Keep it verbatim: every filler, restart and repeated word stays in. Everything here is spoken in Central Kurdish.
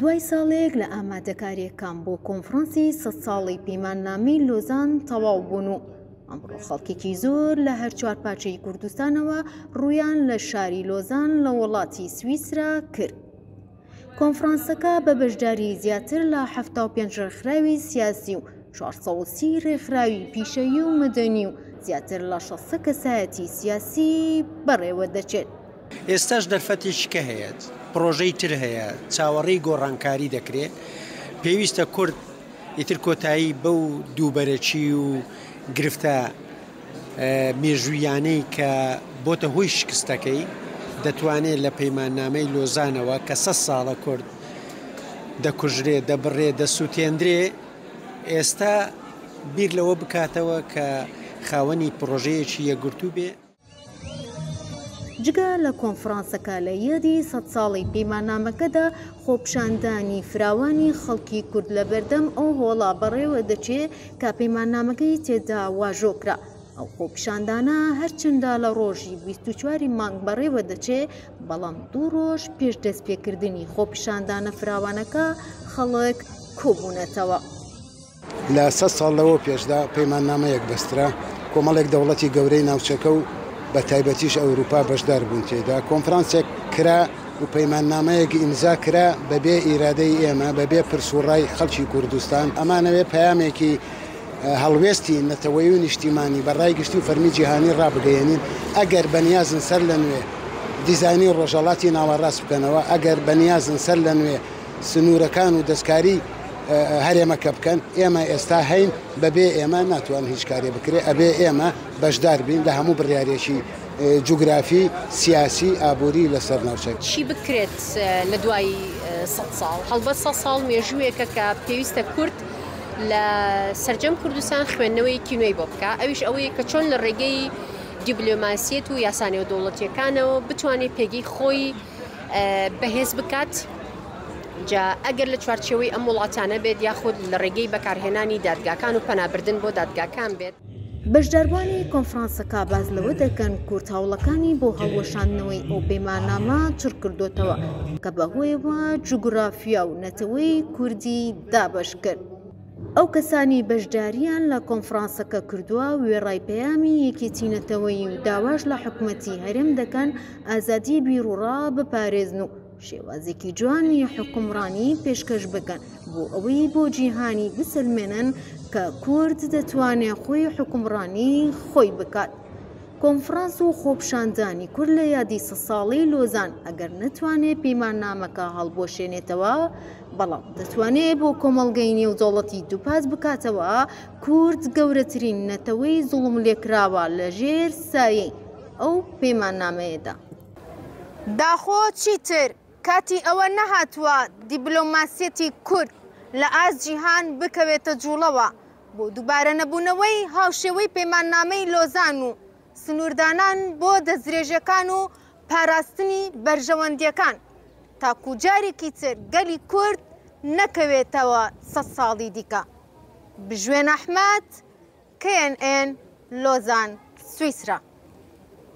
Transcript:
دوای ساڵێک لە ئامادەکارییەکان بۆ کۆنفرانسی سەد ساڵەی پەیماننامەی لۆزان تەواو بوون و ئەمڕۆ خەڵکێکی زۆر لە هەر چوار پارچەی کوردستانەوە ڕوویان لە شاری لۆزان لە وڵاتی سویسرا کرد. کۆنفرانسەکە بە بەشداری زیاتر لە حەفتا و پێنج ڕێکخراوی سیاسی و چوار سەد و سی ڕێکخراوی پیشەیی و مەدەنی و زیاتر لە شەست کەسایەتی سیاسی بەڕێوە دەچێت. ئێستاش دەرفەتێکی کە هەیە، پرۆژەی تر هەیە، چاوەڕێی گۆڕانکاری دەکرێت. پێویستە کورد ئیتر کۆتایی بەو دووبەرەکی و گرفتە مێژوویانەی کە بۆتە هۆی شکستەکەی دەتوانێت لە پەیماننامەی لۆزانەوە کە سەد ساڵە کورد دەکوژرێ، دەبڕێ، دەسووتێندرێ، ئێستا بیر لەوە بکاتەوە کە خاوەنی پرۆژەیەکی یەکگرتوو بێ. جگە لە کۆنفرانسەکە لە یادی سەد ساڵی پەیماننامەکەدا خۆپیشاندانی فراوانی خەڵکی کورد لە بەردەم ئەو هۆڵا بەڕێوە دەچێت کە پەیماننامەکەی تێدا واژۆ کرا. ئەو خۆپیشاندانە هەرچەندە لە ڕۆژی بیست و چواری مانگ بەڕێوە دەچێت، بەڵام دوو ڕۆژ پێش دەستپێکردنی خۆپیشاندانە فراوانەکە خەڵک کۆبوونەتەوە. لە سەد ساڵ لەوە پێشدا پەیماننامەیەک بەسترا، کۆمەڵێک دەوڵەتی گەورەی ناوچەکە و بە تایبەتیش ئەوروپا بەشدار بوون تێدا. کۆنفرانسێک کرا و پەیماننامەیەک ئیمزا کرا بەبێ ئیرادەی ئێمە، بەبێ پرس و ڕای خەڵکی کوردستان. ئەمانەوێ پەیامێکی هەڵوێستی نەتەوەیی و نیشتیمانی بە ڕای گشتی و فەرمی جیهانی ڕابگەیەنین. ئەگەر بەنیازن سەر لە نوێ دیزانی ڕۆژهەڵاتی ناوەڕاست بکەنەوە، ئەگەر بەنیازن سەر لە نوێ سنوورەکان و دەستکاری هەرێمەکە بکەن، ئێمە ئێستا هەین، بەبێ ئێمە ناتوان هیچ کارێ بکرێ. ئەبێ ئێمە بەشدار بین لە هەموو بڕیارێکی جوگرافی، سیاسی، ئابووری لەسەر ناوچەکە. چی بکرێت لە دوای سەد ساڵ؟ هەڵبەت سەد ساڵ مێژوویەکە کە پێویستە کورد لە سەرجەم کوردستان خوێندنەوەیەکی نوێی بۆ بکە، ئەویش ئەوەیە کە چۆن لە ڕێگەی دیبلۆماسیەت و یاسا نێودەوڵەتیەکانەوە بتوانێت پێگەی خۆی بەهێز بکات. جا ئەگەر لە چوارچێوەی ئەم وڵاتانە بێت یاخود لە ڕێگەی بەکارهێنانی دادگاکان و پەنابردن بۆ دادگاکان بێت. بەشداربوانی کۆنفرانسەکە باز لەوە دەکەن کورد هەوڵەکانی بۆ هەڵوەشاندنەوەی ئەو پەیماننامە چڕ کردوتەوە کە بەهۆیەوە جوگرافیا و نەتەوەی کوردی دابەش کرد. ئەو کەسانی بەشداریان لە کۆنفرانسەکە کردووە وێڕای پەیامی یەکێتی نەتەوەیی و داواش لە حکومەتی هەرێم دەکەن ئازادی بیرۆڕا بپارێزن و شێوازێکی جوانی حکومڕانی پێشکەش بکەن بۆ ئەوەی بۆ جیهانی بسەلمێنن کە کورد دەتوانێت خۆی حکومڕانی خۆی بکات. کۆنفرانس و خۆپیشاندانی کورد لە یادی سەد ساڵەی لۆزان ئەگەر نەتوانێت پەیماننامەکە هەڵبوەشێنێتەوە، بەڵام دەتوانێت بۆ کۆمەڵگەی نێودەوڵەتی دووپات بکاتەوە کورد گەورەترین نەتەوەی زوڵم لێکراوە لەژێر سایەی ئەو پەیماننامەیەدا. داخۆ چیتر کاتی ئەوە نەهاتووە دیبلۆماسیەتی کورد لە ئاست جیهان بکەوێتە جوڵەوە بۆ دووبارە نەبوونەوەی هاوشێوەی پەیماننامەی لۆزان و سنووردانان بۆ دەستدرێژەکان و پاراستنی بەرژەوەندیەکان تاکو جارێکی تر گەلی کورد نەکەوێتەوە سەد ساڵی دیکە. بژوێن ئەحمەد، K N N، لۆزان، سویسرا.